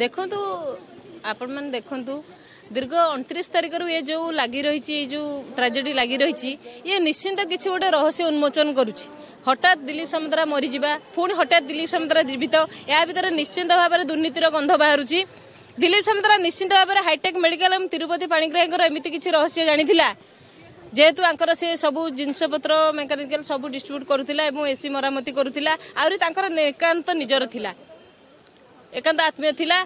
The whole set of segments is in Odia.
ଦେଖନ୍ତୁ, ଆପଣମାନେ ଦେଖନ୍ତୁ, ଦୀର୍ଘ 29 ତାରିଖରୁ ଏ ଯେଉଁ ଲାଗି ରହିଛି, ଏଇ ଯେଉଁ ଟ୍ରାଜେଡି ଲାଗି ରହିଛି, ଇଏ ନିଶ୍ଚିନ୍ତ କିଛି ଗୋଟେ ରହସ୍ୟ ଉନ୍ମୋଚନ କରୁଛି। ହଠାତ୍ ଦିଲ୍ଲୀପ ସାମନ୍ତରା ମରିଯିବା, ପୁଣି ହଠାତ୍ ଦିଲ୍ଲୀପ ସାମନ୍ତରା ଜୀବିତ, ଏହା ଭିତରେ ନିଶ୍ଚିନ୍ତ ଭାବରେ ଦୁର୍ନୀତିର ଗନ୍ଧ ବାହାରୁଛି। ଦିଲ୍ଲୀପ ସାମନ୍ତରା ନିଶ୍ଚିନ୍ତ ଭାବରେ ହାଇଟେକ୍ ମେଡିକାଲ ଏବଂ ତିରୁପତି ପାଣିଗ୍ରାହୀଙ୍କର ଏମିତି କିଛି ରହସ୍ୟ ଜାଣିଥିଲା, ଯେହେତୁ ଆଙ୍କର ସେ ସବୁ ଜିନିଷପତ୍ର ମେକାନିକାଲ ସବୁ ଡିଷ୍ଟ୍ରିବ୍ୟୁଟ୍ କରୁଥିଲା ଏବଂ ଏସି ମରାମତି କରୁଥିଲା। ଆହୁରି ତାଙ୍କର ଏକାନ୍ତ ନିଜର ଥିଲା, ଏକାନ୍ତ ଆତ୍ମୀୟ ଥିଲା,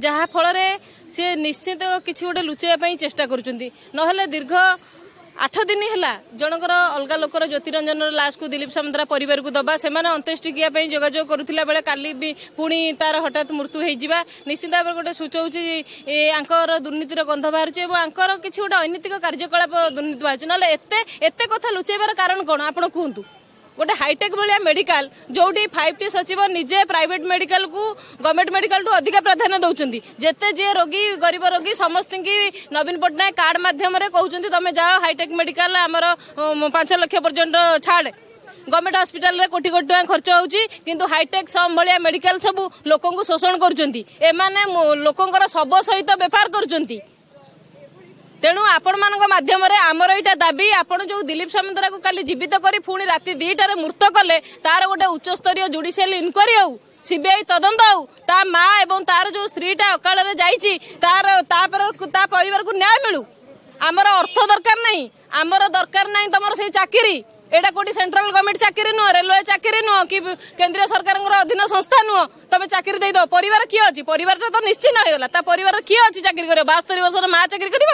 ଯାହା ଫଳରେ ସେ ନିଶ୍ଚିତ କିଛି ଗୋଟେ ଲୁଚାଇବା ପାଇଁ ଚେଷ୍ଟା କରୁଛନ୍ତି। ନହେଲେ ଦୀର୍ଘ 8 ଦିନ ହେଲା ଜଣଙ୍କର ଅଲଗା ଲୋକର ଜ୍ୟୋତିରଞ୍ଜନର ଲାଶକୁ ଦିଲ୍ଲୀପ ସାମନ୍ତରା ପରିବାରକୁ ଦେବା, ସେମାନେ ଅନ୍ତ୍ୟେଷ୍ଟିକ୍ରିୟା ପାଇଁ ଯୋଗାଯୋଗ କରୁଥିଲା ବେଳେ କାଲି ବି ପୁଣି ତାର ହଠାତ୍ ମୃତ୍ୟୁ ହେଇଯିବା ନିଶ୍ଚିତ ଭାବରେ ଗୋଟେ ସୂଚଉଛି ଆଙ୍କର ଦୁର୍ନୀତିର ଗନ୍ଧ ବାହାରୁଛି ଏବଂ ଆଙ୍କର କିଛି ଗୋଟେ ଅନୈତିକ କାର୍ଯ୍ୟକଳାପ ଦୁର୍ନୀତି ବାହାରୁଛି। ନହେଲେ ଏତେ ଏତେ କଥା ଲୁଚେଇବାର କାରଣ କ'ଣ ଆପଣ କୁହନ୍ତୁ? ଗୋଟେ ହାଇଟେକ୍ ଭଳିଆ ମେଡିକାଲ, ଯୋଉଠି 5ଟି ସଚିବ ନିଜେ ପ୍ରାଇଭେଟ ମେଡିକାଲକୁ ଗଭର୍ଣ୍ଣମେଣ୍ଟ ମେଡିକାଲଠୁ ଅଧିକା ପ୍ରାଧାନ୍ୟ ଦେଉଛନ୍ତି। ଯେତେ ଯିଏ ରୋଗୀ, ଗରିବ ରୋଗୀ, ସମସ୍ତଙ୍କୁ ନବୀନ ପଟ୍ଟନାୟକ କାର୍ଡ ମାଧ୍ୟମରେ କହୁଛନ୍ତି ତମେ ଯାଅ ହାଇଟେକ୍ ମେଡିକାଲ, ଆମର 5 ଲକ୍ଷ ପର୍ଯ୍ୟନ୍ତ ଛାଡ଼। ଗଭର୍ଣ୍ଣମେଣ୍ଟ ହସ୍ପିଟାଲରେ କୋଟି କୋଟି ଟଙ୍କା ଖର୍ଚ୍ଚ ହେଉଛି, କିନ୍ତୁ ହାଇଟେକ୍ ସମ୍ ଭଳିଆ ମେଡିକାଲ ସବୁ ଲୋକଙ୍କୁ ଶୋଷଣ କରୁଛନ୍ତି। ଏମାନେ ଲୋକଙ୍କର ଶବ ସହିତ ବେପାର କରୁଛନ୍ତି। ତେଣୁ ଆପଣମାନଙ୍କ ମାଧ୍ୟମରେ ଆମର ଏଇଟା ଦାବି, ଆପଣ ଯେଉଁ ଦିଲ୍ଲୀପ ସାମନ୍ତରାକୁ କାଲି ଜୀବିତ କରି ପୁଣି ରାତି 2ଟାରେ ମୃତ କଲେ, ତାର ଗୋଟେ ଉଚ୍ଚସ୍ତରୀୟ ଜୁଡିସିଆଲ ଇନକ୍ୱାରି ହଉ, ସିବିଆଇ ତଦନ୍ତ ହଉ। ତା ମା ଏବଂ ତାର ଯେଉଁ ସ୍ତ୍ରୀଟା ଅକାଳରେ ଯାଇଛି, ତାର ତାପରେ ତା ପରିବାରକୁ ନ୍ୟାୟ ମିଳୁ। ଆମର ଅର୍ଥ ଦରକାର ନାହିଁ, ଆମର ଦରକାର ନାହିଁ ତମର ସେଇ ଚାକିରି। ଏଇଟା କୋଉଠି ସେଣ୍ଟ୍ରାଲ ଗଭର୍ଣ୍ଣମେଣ୍ଟ ଚାକିରି ନୁହଁ, ରେଲୱେ ଚାକିରି ନୁହଁ କି କେନ୍ଦ୍ରୀୟ ସରକାରଙ୍କର ଅଧୀନ ସଂସ୍ଥା ନୁହଁ। ତମେ ଚାକିରି ଦେଇଦବ, ପରିବାର କିଏ ଅଛି? ପରିବାରଟା ତ ନିଶ୍ଚିନ୍ତ ହେଇଗଲା, ତା ପରିବାର କିଏ ଅଛି ଚାକିରି କରିବ? 72 ବର୍ଷର ମା ଚାକିରି କରିବ?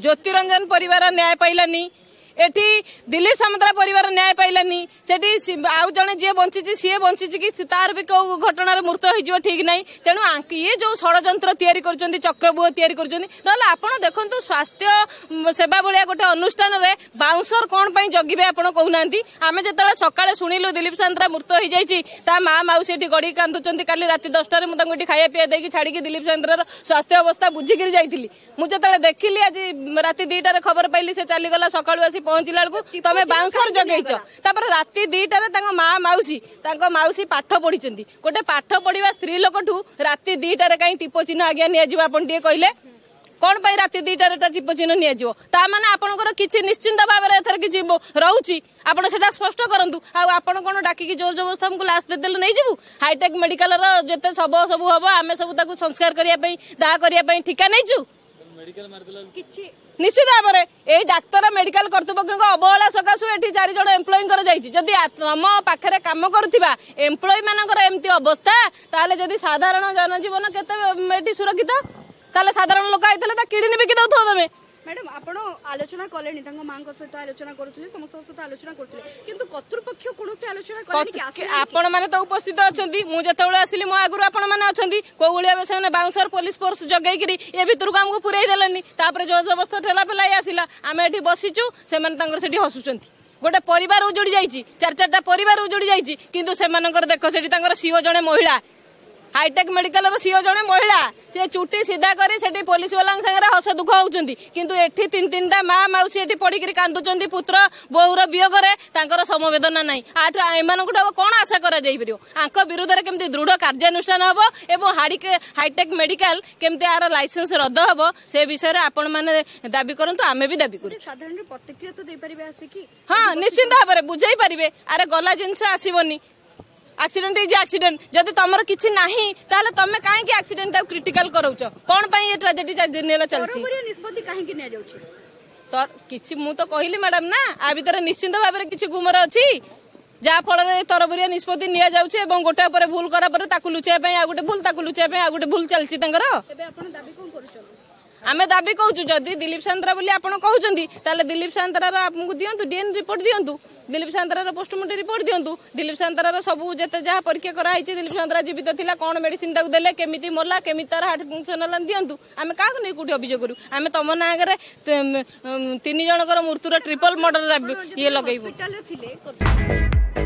ଜ୍ୟୋତିରଞ୍ଜନ ପରିବାର ନ୍ୟାୟ ପାଇଲାନି, ଏଠି ଦିଲ୍ଲୀପ ସାମନ୍ତରା ପରିବାର ନ୍ୟାୟ ପାଇଲାନି, ସେଠି ଆଉ ଜଣେ ଯିଏ ବଞ୍ଚିଛି ସିଏ ବଞ୍ଚିଛି କି ତାର ବି କେଉଁ ଘଟଣାରେ ମୃତ ହେଇଯିବ ଠିକ୍ ନାହିଁ। ତେଣୁ ଇଏ ଯେଉଁ ଷଡ଼ଯନ୍ତ୍ର ତିଆରି କରୁଛନ୍ତି, ଚକ୍ରବ୍ୟୁହ ତିଆରି କରୁଛନ୍ତି। ନହେଲେ ଆପଣ ଦେଖନ୍ତୁ, ସ୍ୱାସ୍ଥ୍ୟ ସେବା ଭଳିଆ ଗୋଟେ ଅନୁଷ୍ଠାନରେ ବାଉନ୍ସର କ'ଣ ପାଇଁ ଜଗିବେ ଆପଣ କହୁନାହାନ୍ତି? ଆମେ ଯେତେବେଳେ ସକାଳେ ଶୁଣିଲୁ ଦିଲ୍ଲୀପ ସାମନ୍ତରା ମୃତ ହେଇଯାଇଛି, ତା ମା ମାଉସୀ ଏଠି ଗଡ଼ିକି କାନ୍ଦୁଛନ୍ତି। କାଲି ରାତି 10ଟାରେ ମୁଁ ତାଙ୍କୁ ଏଠି ଖାଇବା ପିଇବା ଦେଇକି ଛାଡ଼ିକି ଦିଲ୍ଲୀପ ସାମନ୍ତରାର ସ୍ୱାସ୍ଥ୍ୟ ଅବସ୍ଥା ବୁଝିକିରି ଯାଇଥିଲି। ମୁଁ ଯେତେବେଳେ ଦେଖିଲି ଆଜି ରାତି 2ଟାରେ ଖବର ପାଇଲି ସେ ଚାଲିଗଲା, ସକାଳୁ ଆସି ପହଞ୍ଚିଲା ବେଳକୁ ତମେ ବାଉନ୍ସର ଜଗେଇଛ। ତାପରେ ରାତି 2ଟାରେ ତାଙ୍କ ମା ମାଉସୀ, ତାଙ୍କ ମାଉସୀ ପାଠ ପଢିଛନ୍ତି, ଗୋଟେ ପାଠ ପଢିବା ସ୍ତ୍ରୀ ଲୋକଠୁ ରାତି 2ଟାରେ କାହିଁ ଟିପ ଚିହ୍ନ ଆଜ୍ଞା ନିଆଯିବ? ଆପଣ ଟିକେ କହିଲେ, କ'ଣ ପାଇଁ ରାତି 2ଟାରେ ଟିପ ଚିହ୍ନ ନିଆଯିବ? ତା ମାନେ ଆପଣଙ୍କର କିଛି ନିଶ୍ଚିନ୍ତ ଭାବରେ ଏଥର କିଛି ରହୁଛି, ଆପଣ ସେଟା ସ୍ପଷ୍ଟ କରନ୍ତୁ। ଆଉ ଆପଣ କ'ଣ ଡାକିକି ଜୋର ଜବରଦସ୍ତ ଆମକୁ ଲାଶ ଦେଇଦେଲେ ନେଇଯିବୁ? ହାଇଟେକ୍ ମେଡିକାଲର ଯେତେ ଶବ ସବୁ ହବ, ଆମେ ସବୁ ତାକୁ ସଂସ୍କାର କରିବା ପାଇଁ, ଦାହ କରିବା ପାଇଁ ଠିକା ନେଇଛୁ? ନିଶ୍ଚିତ ଭାବରେ ଏଇ ଡାକ୍ତର ମେଡିକାଲ କର୍ତ୍ତୃପକ୍ଷଙ୍କ ଅବହେଳା ସକାଶୁ ଏଠି 4 ଜଣ ଏମ୍ପ୍ଲୟିଙ୍କର ଯାଇଛି। ଯଦି ତମ ପାଖରେ କାମ କରୁଥିବା ଏମ୍ପ୍ଲୟି ମାନଙ୍କର ଏମିତି ଅବସ୍ଥା, ତାହେଲେ ଯଦି ସାଧାରଣ ଜନଜୀବନ କେତେ ଏଠି ସୁରକ୍ଷିତ? ତାହେଲେ ସାଧାରଣ ଲୋକ ଆଇଥିଲେ ତା କିଡନୀ ବିକି ଦଉଥିବ ତମେ। ମ୍ୟାଡାମ, ଆପଣ ଆଲୋଚନା କଲେଣି, ତାଙ୍କ ମାଙ୍କ ସହିତ ଆଲୋଚନା କରୁଥିଲେ, ସମସ୍ତଙ୍କ ସହିତ ଆଲୋଚନା କରୁଥିଲେ, କିନ୍ତୁ କର୍ତ୍ତୃପକ୍ଷ କୌଣସି ଆଲୋଚନା କଲେନି କି? ଆପଣମାନେ ତ ଉପସ୍ଥିତ ଅଛନ୍ତି, ମୁଁ ଯେତେବେଳେ ଆସିଲି ମୋ ଆଗରୁ ଆପଣମାନେ ଅଛନ୍ତି। କୋଉ ଭଳି ଭାବେ ସେମାନେ ବାଉନ୍ସର ପୋଲିସ ଫୋର୍ସ ଜଗେଇକିରି ଏ ଭିତରକୁ ଆମକୁ ପୁରେଇ ଦେଲେନି। ତାପରେ ଜୋର ଜବରଦସ୍ତ ଠେଲା ପେଲା ଆସିଲା, ଆମେ ଏଠି ବସିଛୁ, ସେମାନେ ତାଙ୍କର ସେଠି ହସୁଛନ୍ତି। ଗୋଟେ ପରିବାର ଉଜୁଡ଼ି ଯାଇଛି, 4 4ଟା ପରିବାର ଉଜୁଡ଼ି ଯାଇଛି, କିନ୍ତୁ ସେମାନଙ୍କର ଦେଖ ସେଠି ତାଙ୍କର ସିଓ ଜଣେ ମହିଳା, ହାଇଟେକ୍ ମେଡିକାଲର ସିଓ ଜଣେ ମହିଳା, ସେ ଚୁଟି ସିଧା କରି ସେଠି ପୋଲିସ ବାଲାଙ୍କ ସାଙ୍ଗରେ ହସ ଦୁଃଖ ହଉଛନ୍ତି। କିନ୍ତୁ ଏଠି 3 3ଟା ମା ମାଉସୀ ଏଠି ପଡ଼ିକିରି କାନ୍ଦୁଛନ୍ତି ପୁତ୍ର ବୋହୂର ବିୟୋଗରେ, ତାଙ୍କର ସମବେଦନା ନାହିଁ। ଆଠୁ ଏମାନଙ୍କଠୁ ଆଉ କ'ଣ ଆଶା କରାଯାଇପାରିବ? ଆଙ୍କ ବିରୁଦ୍ଧରେ କେମିତି ଦୃଢ଼ କାର୍ଯ୍ୟାନୁଷ୍ଠାନ ହେବ ଏବଂ ହାଇଟେକ୍ ମେଡିକାଲ କେମିତି ଆର ଲାଇସେନ୍ସ ରଦ୍ଦ ହେବ, ସେ ବିଷୟରେ ଆପଣମାନେ ଦାବି କରନ୍ତୁ, ଆମେ ବି ଦାବି କରୁଛୁ। ସାଧାରଣରେ ପ୍ରତିକ୍ରିୟା ତ ଦେଇପାରିବେ ଆସିକି? ହଁ, ନିଶ୍ଚିନ୍ତ ଭାବରେ ବୁଝେଇ ପାରିବେ। ଆରେ ଗଲା ଜିନିଷ ଆସିବନି, ଆକ୍ସିଡେଣ୍ଟ is accident. ଯଦି ତମର କିଛି ନାହିଁ, ତାହେଲେ ତମେ କାହିଁକି ଆକ୍ସିଡେଣ୍ଟଟାକୁ କ୍ରିଟିକାଲ କରାଉଛ? କ'ଣ ପାଇଁ ଏ ଟ୍ରାଜେଡି 4 ଦିନ ହେଲା ଚାଲିଛି? ନିଷ୍ପତ୍ତି କାହିଁକି ନିଆଯାଉଛି? ତ କିଛି ମୁଁ ତ କହିଲି ମ୍ୟାଡାମ ନା, ଆ ଭିତରେ ନିଶ୍ଚିନ୍ତ ଭାବରେ କିଛି ଗୁମର ଅଛି, ଯାହା ଫଳରେ ତରବରିଆ ନିଷ୍ପତ୍ତି ନିଆଯାଉଛି ଏବଂ ଗୋଟେ ଉପରେ ଭୁଲ କରା ପରେ ତାକୁ ଲୁଚାଇବା ପାଇଁ ଆଉ ଗୋଟେ ଭୁଲ, ତାକୁ ଲୁଚାଇବା ପାଇଁ ଆଉ ଗୋଟେ ଭୁଲ ଚାଲିଛି ତାଙ୍କର। ଏବେ ଆପଣ ଦାବି କଣ କରୁଛନ୍ତି? ଆମେ ଦାବି କହୁଛୁ, ଯଦି ଦିଲ୍ଲୀପ ସାନ୍ତରା ବୋଲି ଆପଣ କହୁଛନ୍ତି, ତାହେଲେ ଦିଲ୍ଲୀପ ସାନ୍ତରାର ଆମକୁ ଦିଅନ୍ତୁ, ଡିଏନ୍ ରିପୋର୍ଟ ଦିଅନ୍ତୁ, ଦିଲ୍ଲୀପ ସାନ୍ତରାର ପୋଷ୍ଟମର୍ଟମ ରିପୋର୍ଟ ଦିଅନ୍ତୁ, ଦିଲ୍ଲୀପ ସାନ୍ତରାର ସବୁ ଯେତେ ଯାହା ପରୀକ୍ଷା କରାହେଇଛି, ଦିଲ୍ଲୀପ ସାନ୍ତରା ଜୀବିତ ଥିଲା, କ'ଣ ମେଡିସିନ ତାକୁ ଦେଲେ, କେମିତି ମଲା, କେମିତି ତାର ହାର୍ଟ ଫଙ୍କସନ ହେଲା ଦିଅନ୍ତୁ। ଆମେ କାହାକୁ ନେଇ କୋଉଠି ଅଭିଯୋଗ କରୁ? ଆମେ ତମ ନାଁ ଆଗରେ 3 ଜଣଙ୍କର ମୃତ୍ୟୁର ଟ୍ରିପଲ ମର୍ଡର ଇଏ ଲଗେଇବୁ। ଥିଲେ।